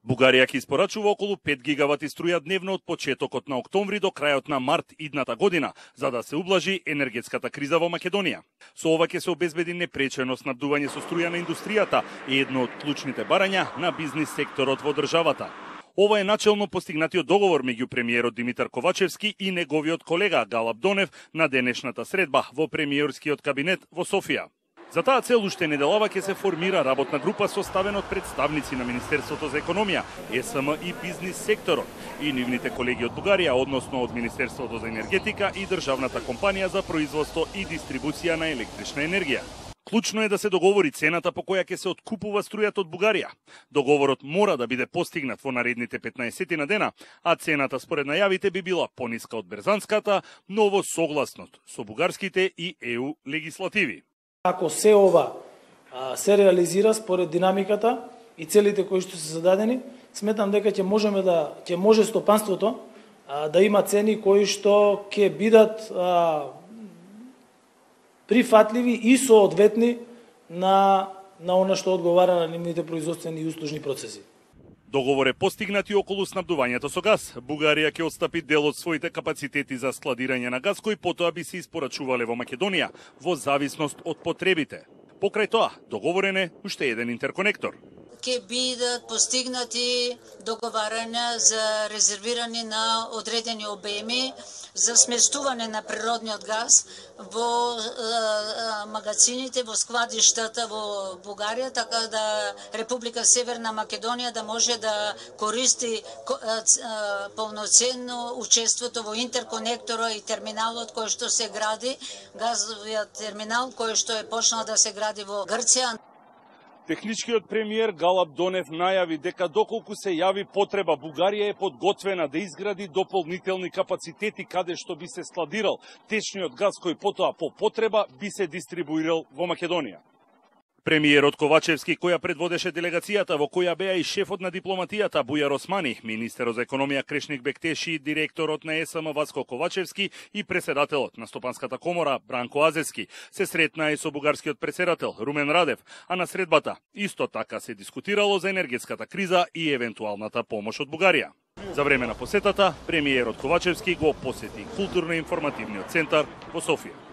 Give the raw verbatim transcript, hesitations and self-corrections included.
Бугарија ќе испорачува околу пет гигавати струја дневно од почетокот на октомври до крајот на март идната година, за да се ублажи енергетската криза во Македонија. Со ова ќе се обезбеди непречено снабдување со струја на индустријата, едно од клучните барања на бизнис секторот во државата. Ова е начелно постигнатиот договор меѓу премиерот Димитар Ковачевски и неговиот колега Галаб Донев на денешната средба во премиерскиот кабинет во Софија. За таа цел уште неделава ќе се формира работна група составена од представници на Министерството за економија, Е С М и бизнис секторот и нивните колеги од Бугарија, односно од Министерството за енергетика и Државната компанија за производство и дистрибуција на електрична енергија. Клучно е да се договори цената по која ќе се откупува струјата од Бугарија. Договорот мора да биде постигнат во наредните петнаесет на дена, а цената според најавите би била пониска од берзанската, но во согласност со бугарските и Е У легислативи. Ако се ова а, се реализира според динамиката и целите кои што се зададени, сметам дека ќе можеме да ќе може стопанството а, да има цени кои што ќе бидат а, прифатливи и соодветни на на она што одговара на нивните производствени и услужни процеси. Договор е постигнат и околу снабдувањето со газ. Бугарија ќе отстапи дел од своите капацитети за складирање на газ кои потоа би се испорачувале во Македонија во зависност од потребите. Покрај тоа, договорен е уште еден интерконектор. Ќе бидат постигнати договарања за резервирање на одредени обеми за сместување на природниот газ во е, магазините, во складиштата во Бугарија, така да Република Северна Македонија да може да користи е, е, полноценно учеството во интерконектора и терминалот кој што се гради, газовиот терминал кој што е почнал да се гради во Грција. Техничкиот премиер Галаб Донев најави дека доколку се јави потреба, Бугарија е подготвена да изгради дополнителни капацитети каде што би се складирал течниот газ кој потоа по потреба би се дистрибуирал во Македонија. Премиерот Ковачевски, која предводеше делегацијата во која беа и шефот на дипломатијата Бујар Османи, министерот за економија Крешник Бектеши, директорот на Е С М Васко Ковачевски и преседателот на Стопанската комора Бранко Азевски, се сретнаа и со бугарскиот преседател Румен Радев, а на средбата исто така се дискутирало за енергетската криза и евентуалната помош од Бугарија. За време на посетата, премиерот Ковачевски го посети културно-информативниот центар во Софија.